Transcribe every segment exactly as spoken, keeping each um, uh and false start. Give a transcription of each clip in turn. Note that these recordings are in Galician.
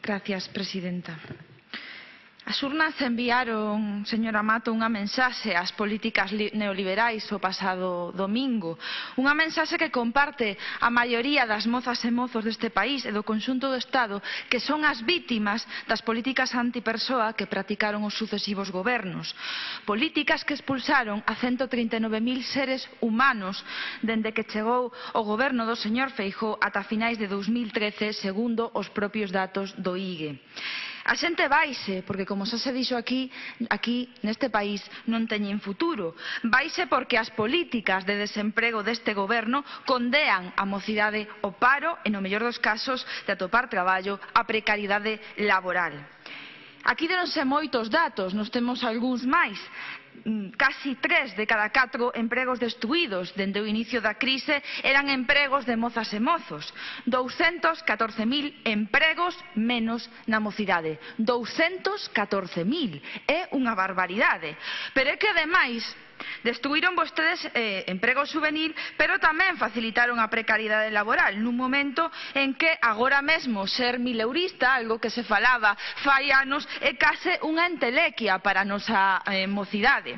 Gracias, presidenta. As urnas enviaron, señora Mato, unha mensaxe ás políticas neoliberais o pasado domingo. Unha mensaxe que comparte a maioría das mozas e mozos deste país e do conxunto do Estado, que son as vítimas das políticas antipersoa que practicaron os sucesivos gobernos. Políticas que expulsaron a ciento trinta e nove mil seres humanos dende que chegou o goberno do señor Feijóo ata finais de dous mil trece, segundo os propios datos do I G E. A xente vaise, porque como xa se dixo aquí, aquí neste país non teñen futuro. Vaise porque as políticas de desemprego deste goberno condean a mocidade ao paro e, no mellor dos casos, de atopar traballo, a precariedade laboral. Aquí deronse moitos datos, nos temos algúns máis. Casi tres de cada catro empregos destruídos dende o inicio da crise eran empregos de mozas e mozos. douscentos catorce mil empregos menos na mocidade. douscentos catorce mil. É unha barbaridade. Pero é que, ademais, destruíron vostedes eh, emprego juvenil, pero tamén facilitaron a precariedade laboral nun momento en que agora mesmo ser mileurista, algo que se falaba fai anos, é case unha entelequia para a nosa eh, mocidade.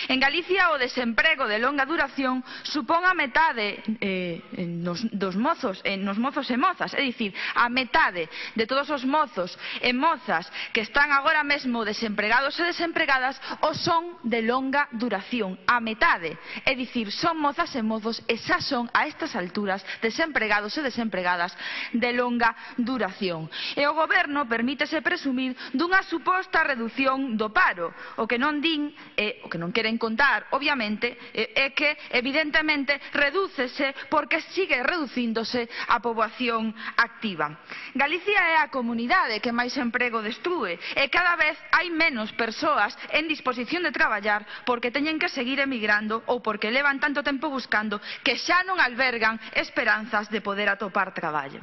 En Galicia o desemprego de longa duración supón a metade eh, nos, dos mozos, eh, nos mozos e mozas, é dicir, a metade de todos os mozos e mozas que están agora mesmo desempregados e desempregadas o son de longa duración. A metade, é dicir, son mozas e mozos e xa son a estas alturas desempregados e desempregadas de longa duración. E o goberno permítese presumir dunha suposta reducción do paro. O que non din, eh, o que non queren contar, obviamente, eh, é que evidentemente redúcese porque sigue reducíndose a poboación activa. Galicia é a comunidade que máis emprego destrúe e cada vez hai menos persoas en disposición de traballar porque teñen que seguir emigrando ou porque levan tanto tempo buscando que xa non albergan esperanzas de poder atopar traballo.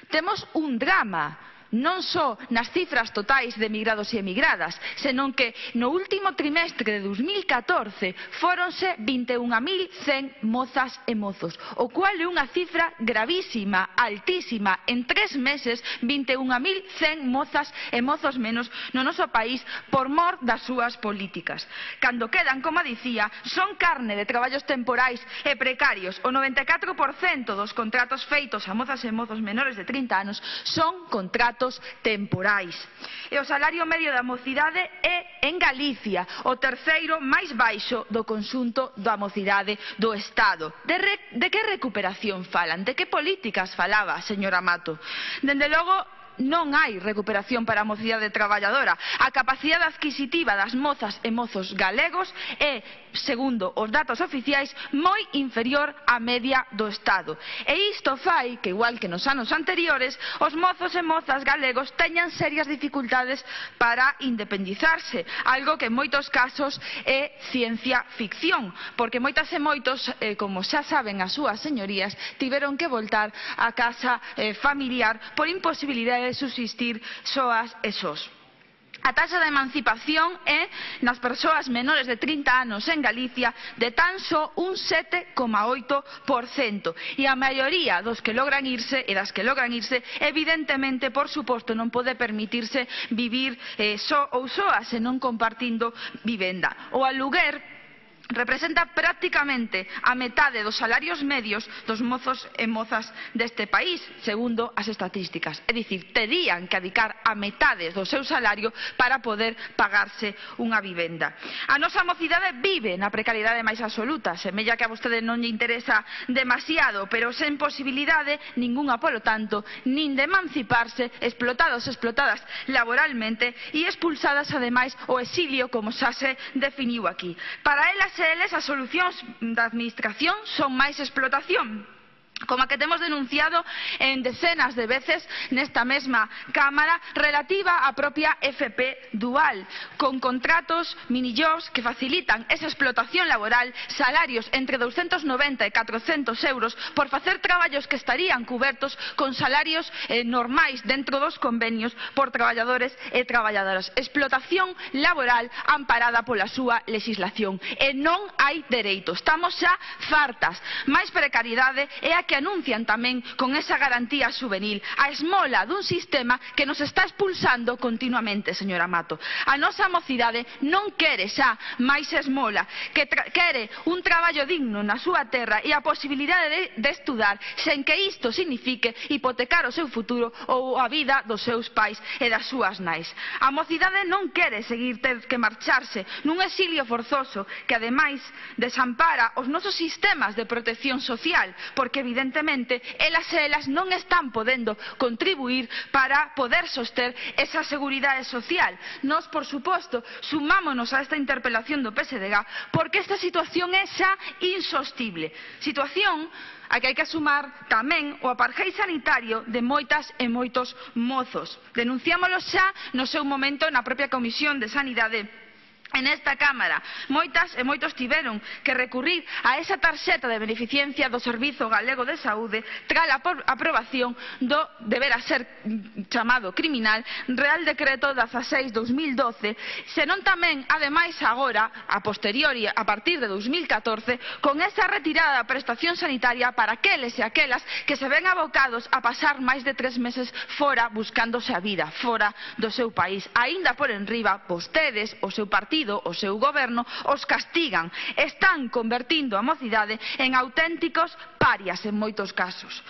Temos un drama, non só nas cifras totais de emigrados e emigradas, senón que no último trimestre de dous mil catorce fóronse vinte e un mil cen mozas e mozos, o cual é unha cifra gravísima, altísima. En tres meses, vinte e un mil cen mozas e mozos menos no noso país por mor das súas políticas. Cando quedan, como dicía, son carne de traballos temporais e precarios. O noventa e catro por cento dos contratos feitos a mozas e mozos menores de trinta anos son contratos temporais. E o salario medio da mocidade é, en Galicia, o terceiro máis baixo do conxunto da mocidade do Estado. De, re, de que recuperación falan? De que políticas falaba, señora Mato? Dende logo, non hai recuperación para a mocidade traballadora. A capacidade adquisitiva das mozas e mozos galegos é, segundo os datos oficiais, moi inferior á media do Estado. E isto fai que, igual que nos anos anteriores, os mozos e mozas galegos teñan serias dificultades para independizarse, algo que en moitos casos é ciencia ficción, porque moitas e moitos, eh, como xa saben as súas señorías, tiveron que voltar á casa eh, familiar por imposibilidade de subsistir soas e sós. A taxa de emancipación é, nas persoas menores de trinta anos en Galicia, de tan só un sete coma oito por cento. E a maioría dos que logran irse e das que logran irse, evidentemente, por suposto, non pode permitirse vivir eh, só ou soa, senón compartindo vivenda. O aluguer representa prácticamente a metade dos salarios medios dos mozos e mozas deste país, segundo as estatísticas. É dicir, terían que adicar a metade do seu salario para poder pagarse unha vivenda. A nosa mocidade vive na precariedade máis absoluta, semella que a vostede non lle interesa demasiado, pero sen posibilidade ningunha, polo tanto, nin de emanciparse, explotados e explotadas laboralmente e expulsadas, ademais, ao exilio, como xa se definiu aquí. Para elas eles as solucións da administración son máis explotación, como a que temos denunciado en decenas de veces nesta mesma Cámara, relativa á propia F P dual, con contratos minijobs que facilitan esa explotación laboral, salarios entre douscentos noventa e catrocentos euros por facer traballos que estarían cubertos con salarios eh, normais dentro dos convenios por traballadores e traballadoras. Explotación laboral amparada pola súa legislación. E non hai dereito. Estamos xa fartas. Máis precariedade é a que anuncian tamén con esa garantía juvenil, a esmola dun sistema que nos está expulsando continuamente, señora Mato. A nosa mocidade non quere xa máis esmola, que quere un traballo digno na súa terra e a posibilidade de, de estudar sen que isto signifique hipotecar o seu futuro ou a vida dos seus pais e das súas nais. A mocidade non quere seguir ter que marcharse nun exilio forzoso que ademais desampara os nosos sistemas de protección social, porque evidentemente elas e elas non están podendo contribuir para poder soster esa seguridade social. Nós, por suposto, sumámonos a esta interpelación do P S D G porque esta situación é xa insostible. Situación a que hai que sumar tamén o apartheid sanitario de moitas e moitos mozos. Denunciámolo xa no seu momento na propia Comisión de Sanidade en esta Cámara. Moitas e moitos tiveron que recurrir a esa tarxeta de beneficencia do Servizo Galego de Saúde tras a aprobación do deberá ser chamado criminal Real Decreto dezaseis barra dos mil doce, senón tamén, ademais agora, a posteriori, a partir de dos mil catorce, con esa retirada da prestación sanitaria para aqueles e aquelas que se ven abocados a pasar máis de tres meses fora buscándose a vida, fora do seu país. Aínda por enriba, vostedes, o seu partido, o seu goberno, os castigan. Están convertindo a mocidade en auténticos parias en moitos casos.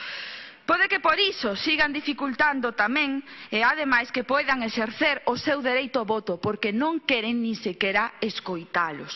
Pode que por iso sigan dificultando tamén e ademais que poidan exercer o seu dereito ao voto porque non queren nin sequera escoitalos,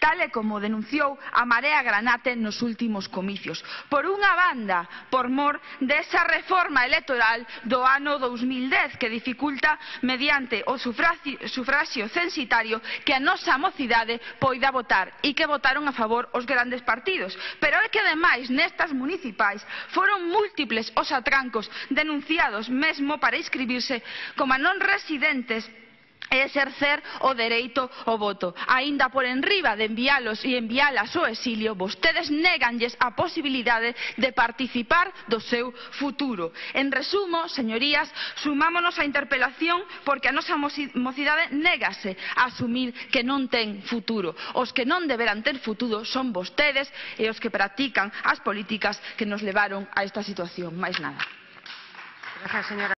tal e como denunciou a Marea Granate nos últimos comicios. Por unha banda, por mor desa reforma electoral do ano dous mil dez que dificulta mediante o sufragio, sufragio censitario que a nosa mocidade poida votar e que votaron a favor os grandes partidos. Pero é que ademais nestas municipais foron múltiples os atrancos denunciados mesmo para inscribirse como non residentes e exercer o dereito ao voto. Aínda por enriba de envialos e envialas ao exilio, vostedes néganlles a posibilidade de participar do seu futuro. En resumo, señorías, sumámonos á interpelación porque a nosa mocidade négase a asumir que non ten futuro. Os que non deberán ter futuro son vostedes e os que practican as políticas que nos levaron a esta situación. Máis nada. Gracias, señora.